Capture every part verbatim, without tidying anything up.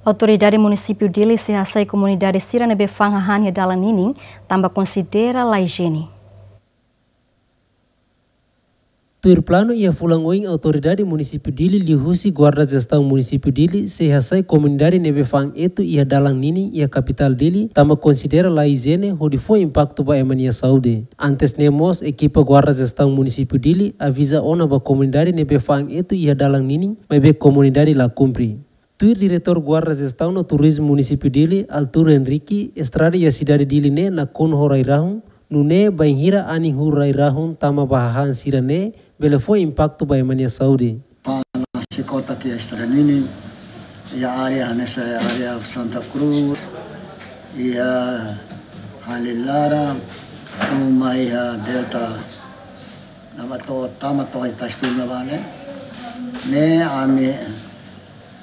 Autoridade Munisípiu Dili sei hasai komunidade sira ne'ebé fa'an hahán iha dalan ninin, tanba konsidera la ijiene. Tuir planu iha fulan oin Autoridade Munisípiu Dili liuhusi Guarda Jestaun Munisípiu Dili sei hasai komunidade ne'ebé fa'an etu iha dalan ninin iha kapitál Dili, tanba konsidera la ijiene hodi fó impaktu ba ema nia saúde. Antes ne'e mós ekipa Guarda Jestaun Munisípiu Dili aviza ona ba komunidade ne'ebé fa'an etu iha dalan ninin, maibé komunidade la kumpre. Tuir Diretór Guarda Jestaun no Turizmu Munisípiu Dili, Arthur Henrique, estrada iha sidade Dili ne'e nakonu ho rai-rahun, nune'e bainhira anin huu rai-rahun tama ba hahán sira-ne'e, bele fó impaktu ba ema nia saúde. Fa'an sei kotak iha estrada ninin, iha área hanesan área Santa Cruz, iha Hali Laran, tama iha Delta, ne'ebá to'o, tama to'o iha Tastur ne'ebá ne'e. Ne'e ami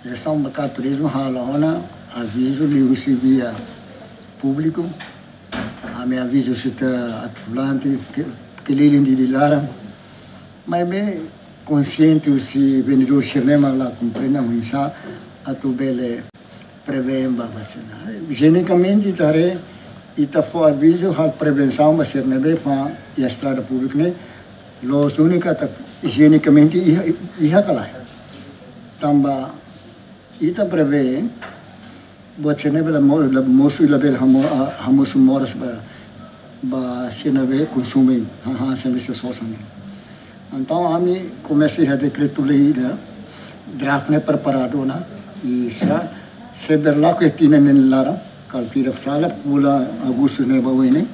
Diresaun Bancária Turizmu halo ona avizu liuhusi via públiku. Ami aviza husi ita atu volante, ke, keliling Dili laran. Maibé konsiente husi vendedór sira-ne'e mak la komprende oinsá atu bele prevee ba, ba sira-ne'e. Ijienamente ita haree, ita fó avizu halo prevensaun ba sira ne'ebé fa'an iha estrada públika ne'e. Loos úniku ita ijienamente iha, iha ka lae. Tanba ita prevee buat sira ne'ebé la mo-, la mosu, labele hamo-, ah, hamosu moras ba, ba sira ne'ebé konsume hahán sira ne'ebé sosa ne'e. Entaun ami komesa iha dekretu-lei ida, draft ne'e preparadu ona, i sei, sei berlaku iha tinan neen laran, kala ita fó sala fulan Agostu ne'e ba oin ne'e,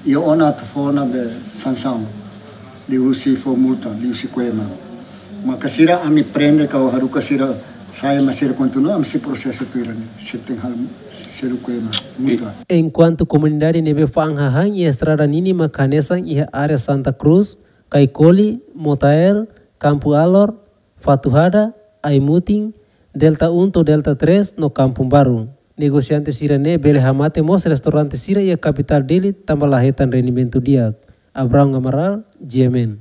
i ona atu fó ona be sansaun, liuhusi fó multa, liuhusi ko'ema. Maka sira ami prende ka haruka sira sai, mas sira kontinua, ami sei prosesu tuir ne'e, sei tenke halo, selu ko'ema, multa. Enkuantu komunidade ne'ebé fa'an hahán iha estrada ninin mak hanesan iha área Santa Cruz, Caicoli, Motael, Campo Alor, Fatuhada, Aimutin, Delta um to'o Delta três no Kampung Baru. Negosiante sira-ne'e bele hamate mós restaurante sira iha kapitál Dili tanba la hetan rendimentu di'ak. Abraham Amaral, G M N.